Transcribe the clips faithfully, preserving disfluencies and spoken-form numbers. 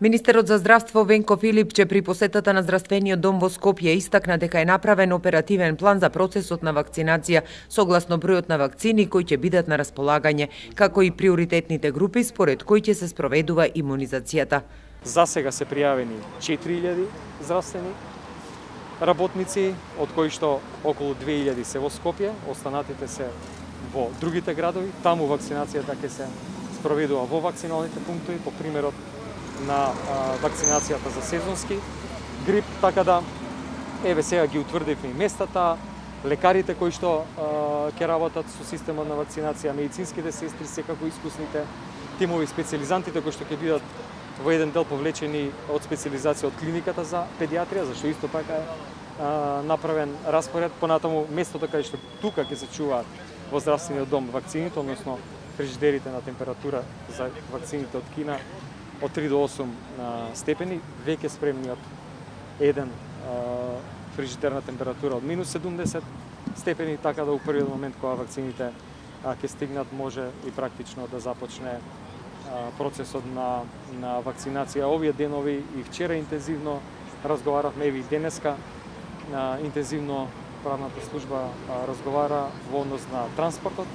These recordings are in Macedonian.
Министерот за здравство Венко Филипче при посетата на здравствениот дом во Скопје истакна дека е направен оперативен план за процесот на вакцинација согласно бројот на вакцини кои ќе бидат на располагање, како и приоритетните групи според кои ќе се спроведува имунизацијата. За сега се пријавени четири илјади здравствени работници, од кои што околу две илјади се во Скопје, останатите се во другите градови. Таму вакцинацијата ќе се спроведува во вакциналните пунктови по примерот на а, вакцинацијата за сезонски грип, така да еве сега ги утврдивме и местата, лекарите кои што а, ќе работат со системот на вакцинација, медицинските сестри, секако искусните тимови, специјализантите кои што ќе бидат во еден дел повлечени од специјализација од клиниката за педиатрија, зашто исто така е а, направен распоред. Понатаму местото каде што тука ќе се чуваат во здравствениот дом вакцините, односно фрижидерите на температура за вакцините од Кина од три до осум степени, веќе спремни од еден а, фрижидер на температура од минус седумдесет степени, така да у првиот момент кога вакцините а, ќе стигнат може и практично да започне а, процесот на, на вакцинација. Овие денови и вчера интензивно разговаравме, и денеска а, интензивно правната служба а, разговара во однос на транспортот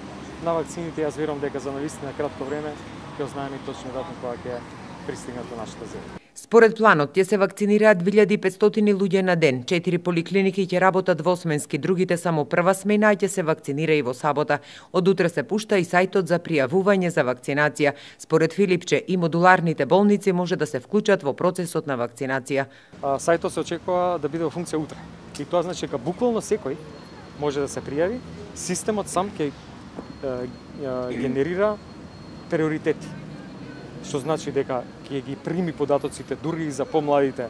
на вакцините. Јас верувам дека за навистина кратко време ќе ознаеме точно датум кога ќе пристигнат во нашата земја. Според планот ќе се вакцинираат две илјади и петстотини луѓе на ден. Четири поликлиники ќе работат двосменски, другите само прва смена, а ќе се вакцинира и во сабота. Од утре се пушта и сајтот за пријавување за вакцинација. Според Филипче и модуларните болници може да се вклучат во процесот на вакцинација. А, сајтот се очекува да биде во функција утре. И тоа значи дека буквално секој може да се пријави. Системот сам ќе генерира приоритети, што значи дека ќе ги прими податоците дури и за помладите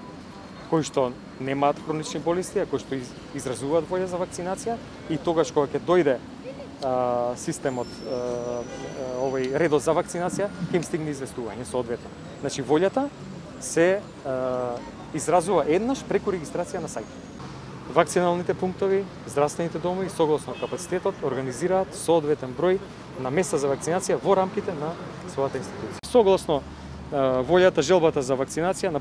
кои што немаат хронични болести, а кои што изразуваат волја за вакцинација, и тогаш кога ќе дојде а, системот, а, овој редот за вакцинација, ќе им стигне известување соодветно. Значи волјата се а, изразува еднаш преку регистрација на сајтот. Вакциналните пунктови, здравствените домови согласно капацитетот организираат соодветен број на места за вакцинација во рамките на својата институција. Согласно а, волјата, желбата за вакцинација,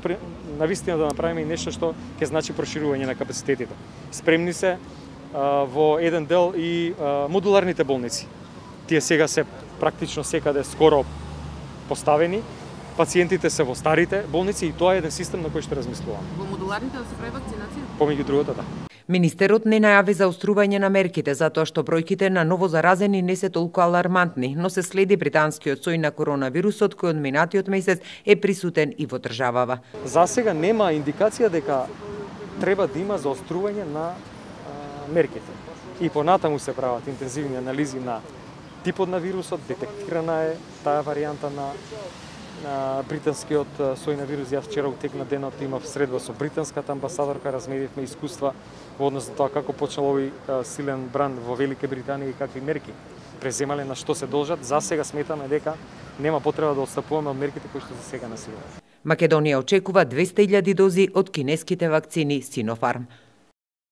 навистина да направиме и нешто што ќе значи проширување на капацитетите. Спремни се а, во еден дел и а, модуларните болници. Тие сега се практично секаде скоро поставени. Пациентите се во старите болници и тоа е еден систем на кој што размислуваме. Во модуларните да се прави вакцинација? Помеѓу другото, да. Министерот не најави заострување на мерките затоа што бројките на новозаразени не се толку алармантни, но се следи британскиот сој на коронавирусот кој од минатиот месец е присутен и во државава. За сега нема индикација дека треба да има заострување на а, мерките. И понатаму се прават интензивни анализи на типот на вирусот, детектирана е таа варијанта на на британскиот сој на вирус. Јас вчера утек на денот имав средба со британската амбасадорка, разменивме искуства во однос на тоа како почнал овој силен бранд во Велика Британија и какви мерки преземале, на што се должат. За сега сметаме дека нема потреба да отстапуваме од мерките кои што за сега насилуваме. Македонија очекува двесте илјади дози од кинеските вакцини Синофарм.